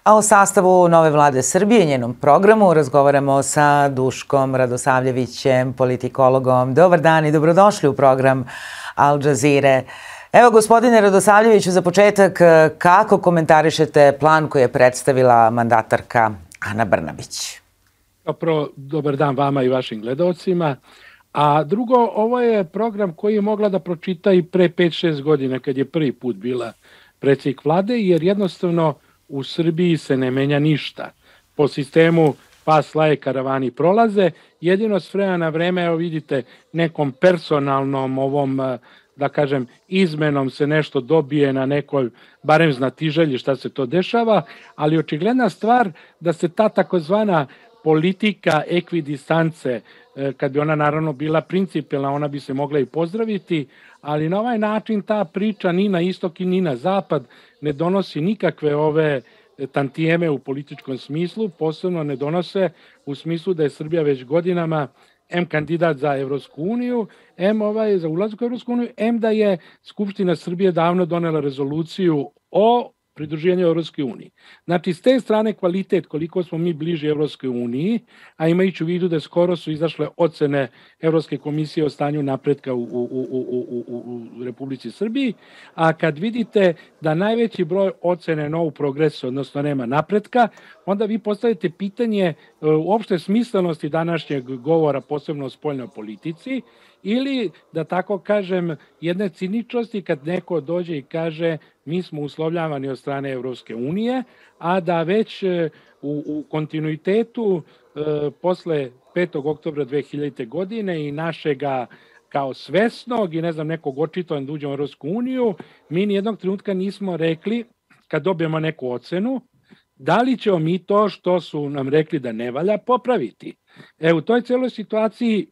A o sastavu nove vlade Srbije i njenom programu razgovaramo sa Duškom Radosavljevićem, politikologom. Dobar dan i dobrodošli u program Al Jazeere. Evo, gospodine Radosavljeviću, za početak, kako komentarišete plan koji je predstavila mandatarka Ana Brnabić? Prvo, dobar dan vama i vašim gledalcima. A drugo, ovo je program koji je mogla da pročita i pre 5-6 godina kad je prvi put bila predsjednik vlade, jer jednostavno u Srbiji se ne menja ništa. Po sistemu pas laje, karavani prolaze, jedino s vremena na vreme, evo vidite, nekom personalnom ovom, da kažem, izmenom se nešto dobije na nekoj, barem znatiželji šta se to dešava, ali očigledna stvar da se ta takozvana politika ekvidistance, kad bi ona naravno bila principijelna, ona bi se mogla i pozdraviti, ali na ovaj način ta priča ni na istok i ni na zapad ne donosi nikakve ove tantijeme u političkom smislu, posebno ne donose u smislu da je Srbija već godinama M kandidat za Evropsku uniju, za ulazak u Evropsku uniju, da je Skupština Srbije davno donela rezoluciju o pridruživanju Evropskoj uniji. Znači, s te strane kvalitet, koliko smo mi bliži Evropskoj uniji, a imajući u vidu da skoro su izašle ocene Evropske komisije o stanju napretka u Republici Srbiji, a kad vidite da najveći broj ocene no progress, odnosno nema napretka, onda vi postavite pitanje uopšte smislenosti današnjeg govora, posebno o spoljnoj politici, ili, da tako kažem, jedne ciničnosti kad neko dođe i kaže mi smo uslovljavani od strane Evropske unije, a da već u kontinuitetu posle 5. oktobra 2000. godine i našega kao svesnog i nekog očitovanog da uđemo u Evropsku uniju, mi nijednog trenutka nismo rekli, kad dobijemo neku ocenu, da li ćemo mi to što su nam rekli da ne valja popraviti. U toj celoj situaciji,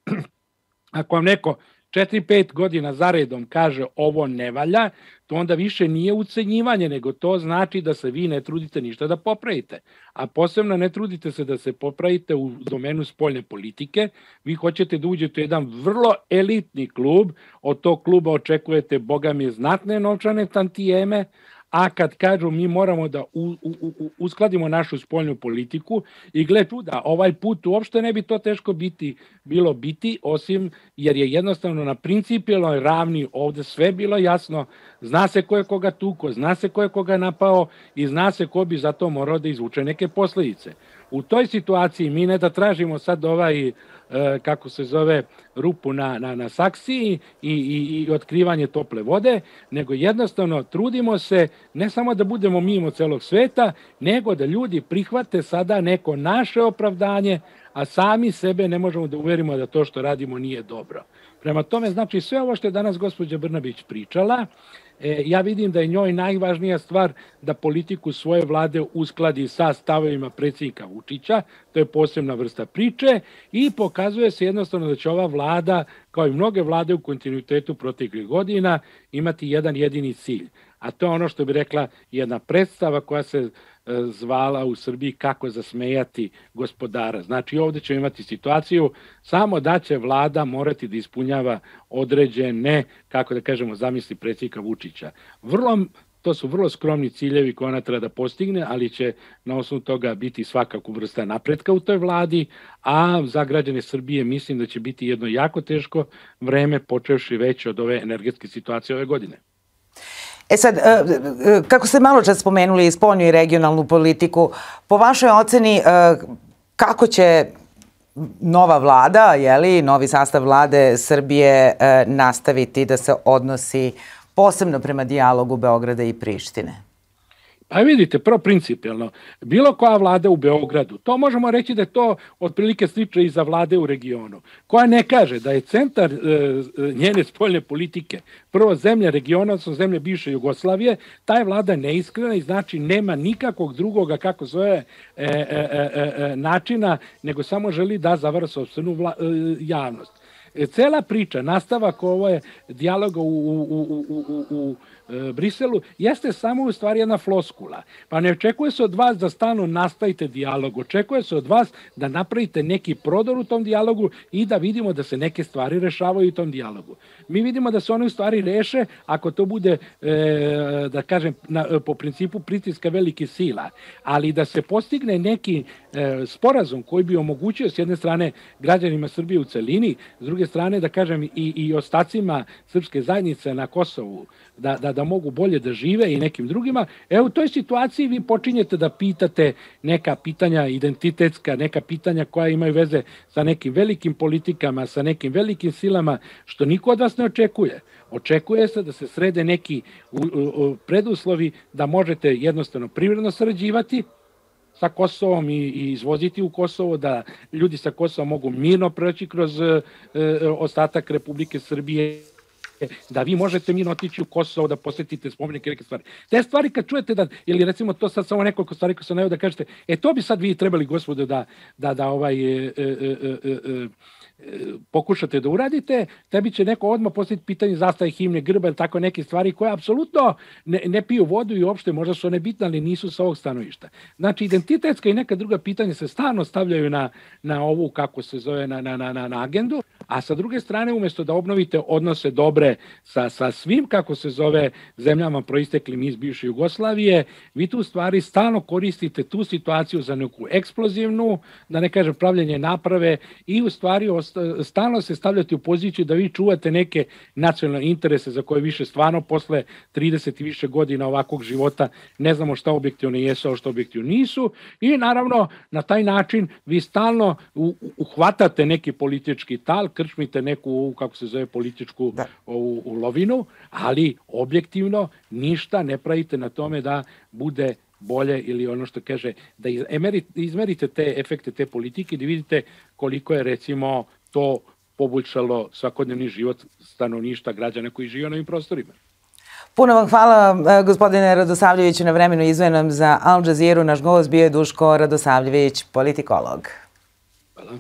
ako vam neko 4-5 godina zaredom kaže ovo ne valja, to onda više nije ucenjivanje, nego to znači da se vi ne trudite ništa da popravite. A posebno ne trudite se da se popravite u domenu spoljne politike. Vi hoćete da uđete u jedan vrlo elitni klub, od tog kluba očekujete, boga mi, znatne novčane tantijeme, a kad kažu mi moramo da uskladimo našu spoljnu politiku i gle čuda, ovaj put uopšte ne bi to teško bilo biti, osim jer je jednostavno na principijelnoj ravni ovde sve bilo jasno, zna se ko je koga tuko, zna se ko je koga napao i zna se ko bi za to morao da izvuče neke posledice. U toj situaciji mi ne da tražimo sad kako se zove, rupu na saksiji i otkrivanje tople vode, nego jednostavno trudimo se ne samo da budemo mimo celog sveta, nego da ljudi prihvate sada neko naše opravdanje, a sami sebe ne možemo da uverimo da to što radimo nije dobro. Prema tome, znači, sve ovo što je danas gospođa Brnabić pričala, ja vidim da je njoj najvažnija stvar da politiku svoje vlade uskladi sa stavovima predsjednika Vučića, to je posebna vrsta priče i pokazuje se jednostavno da će ova vlada, kao i mnoge vlade u kontinuitetu proteklih godina, imati jedan jedini cilj. A to je ono što bi rekla jedna predstava koja se zvala u Srbiji kako zasmejati gospodara. Znači ovdje ćemo imati situaciju samo da će vlada morati da ispunjava određene, kako da kažemo, zamisli predsjednika Vučića. To su vrlo skromni ciljevi koje ona treba da postigne, ali će na osnovu toga biti svakako vrsta napretka u toj vladi, a za građane Srbije mislim da će biti jedno jako teško vreme, počevši već od ove energetske situacije ove godine. Sad, kako ste malo čas spomenuli spoljnu i regionalnu politiku, po vašoj oceni kako će nova vlada, novi sastav vlade Srbije nastaviti da se odnosi posebno prema dijalogu Beograda i Prištine? Pa vidite, prvo principijelno, bilo koja vlada u Beogradu, to možemo reći da je to otprilike slično i za vlade u regionu, koja ne kaže da je centar njene spoljne politike, prvo zemlja regiona, odnosno zemlje bivše Jugoslavije, ta je vlada neiskrena i znači nema nikakvog drugoga, kako zove, načina, nego samo želi da zavara sopstvenu javnost. Cela priča, nastavak ovo je dijaloga u Briselu, jeste samo u stvari jedna floskula. Pa ne očekuje se od vas da stalno nastavite dijalog, očekuje se od vas da napravite neki prodor u tom dijalogu i da vidimo da se neke stvari rešavaju u tom dijalogu. Mi vidimo da se one u stvari reše ako to bude, da kažem, po principu pritiska velikih sila, ali da se postigne neki sporazum koji bi omogućio s jedne strane građanima Srbije u celini, s druge strane da kažem i ostacima srpske zajednice na Kosovu da mogu bolje da žive i nekim drugima. U toj situaciji vi počinjete da pitate neka pitanja identitetska, neka pitanja koja imaju veze sa nekim velikim politikama, sa nekim velikim silama, što niko od vas ne očekuje. Očekuje se da se srede neki preduslovi da možete jednostavno privredno sarađivati sa Kosovom i izvoziti u Kosovo, da ljudi sa Kosova mogu mirno proći kroz ostatak Republike Srbije, da vi možete mirno otići u Kosovo, da posetite spomenike, neke stvari. Te stvari kad čujete da, ili recimo to sad samo nekoliko stvari koje sam najao da kažete, to bi sad vi trebali, gospodo, da pokušate da uradite, tebi će neko odmah postaviti pitanje zastave, himne, grba ili tako neke stvari koje apsolutno ne piju vodu i uopšte možda su one bitne, ali nisu sa ovog stanovišta. Znači, identitetska i neka druga pitanja se stalno stavljaju na ovu, kako se zove, na agendu, a sa druge strane, umjesto da obnovite odnose dobre sa svim, kako se zove, zemljama proisteklim iz bivše Jugoslavije, vi tu stvari stalno koristite tu situaciju za neku eksplozivnu, da ne kažem pravljenje naprave i u stvari stalno se stavljate u poziciju da vi čuvate neke nacionalne interese za koje više stvarno posle 30 i više godina ovakvog života ne znamo šta objektivno jesu, a šta objektivno nisu i naravno na taj način vi stalno uhvatate neki politički tal, krčmite neku, kako se zove, političku ulovinu, ali objektivno ništa ne pravite na tome da bude bolje ili ono što kaže, da izmerite te efekte te politike i da vidite koliko je recimo to poboljšalo svakodnevni život stanovništva građana koji žive na ovim prostorima. Puno vam hvala, gospodine Radosavljeviću, na vremenu izdvojenom za Al Jazeeru. Naš gost bio je Duško Radosavljević, politikolog. Hvala.